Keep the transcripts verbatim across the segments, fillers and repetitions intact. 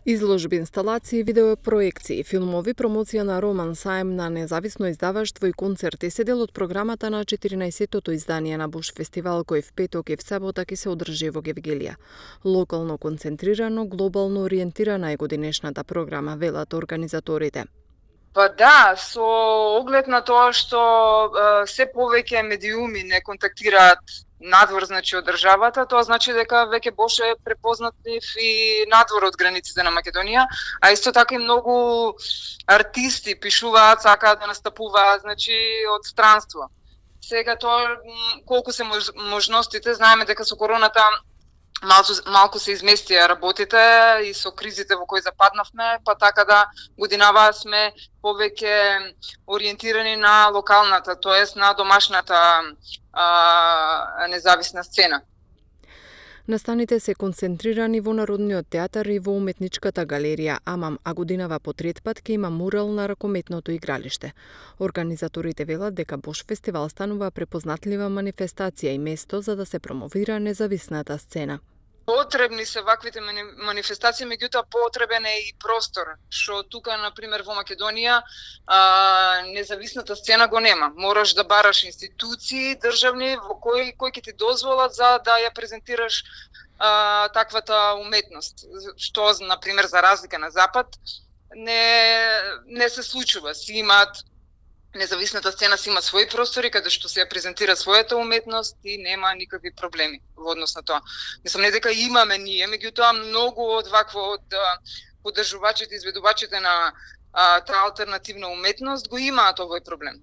Изложби, инсталации, видеопроекции, филмови, промоција на роман, саем на независно издаваштво и концерти се дел од програмата на четиринаесеттото издание на Буш фестивал кој в петок и в сабота ќе се одржи во Гевгелија. Локално концентрирано, глобално ориентирана е годинешната програма, велат организаторите. Па да, со оглед на тоа што е, се повеќе медиуми не контактираат надвор, значи, од државата, тоа значи дека веќе Бош е препознатлив и надвор од границите на Македонија, а исто така и многу артисти пишуваат, сакаат да настапуваат, значи, од странство. Сега тоа колку се мож, можностите, знаеме дека со короната малку, малку се изместија работите и со кризите во кои западнавме, па така да годинава сме повеќе ориентирани на локалната, тоест на домашната а, независна сцена. Настаните се концентрирани во Народниот театар и во Уметничката галерија Амам, а годинава по трет пат ќе има мурал на ракометното игралиште. Организаторите велат дека Бош фестивал станува препознатлива манифестација и место за да се промовира независната сцена. Потребни се ваквите манифестации, меѓутоа потребен е и простор, што тука, например, во Македонија, а, независната сцена го нема. Мораш да бараш институции државни во кои, кои ќе ти дозволат за да ја презентираш а, таквата уметност. Што, например, за разлика на Запад, не, не се случува. Си имаат независната сцена си има своји простори каде што се ја презентира својата уметност и нема никакви проблеми во однос на тоа. Мислам, не дека имаме ние, меѓутоа многу од вакво од поддржувачите и изведувачите на а, таа алтернативна уметност го имаат овој проблем.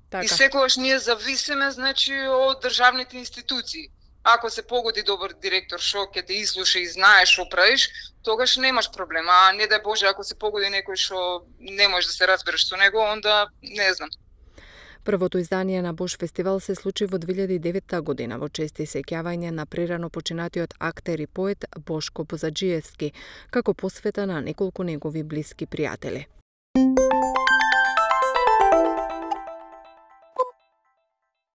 Така. И секогаш ние зависиме, значи, од државните институции. Ако се погоди добар директор што ќе те изслуша и знае што правиш, тогаш немаш проблем. А не дај Боже, ако се погоди некој што не можеш да се разбереш со него, онда не знам. Првото издание на Бош фестивал се случи во две илјади и девета година во чест и сеќавање на прерано починатиот актер и поет Бошко Бузаджиевски, како посвета на неколку негови блиски пријатели.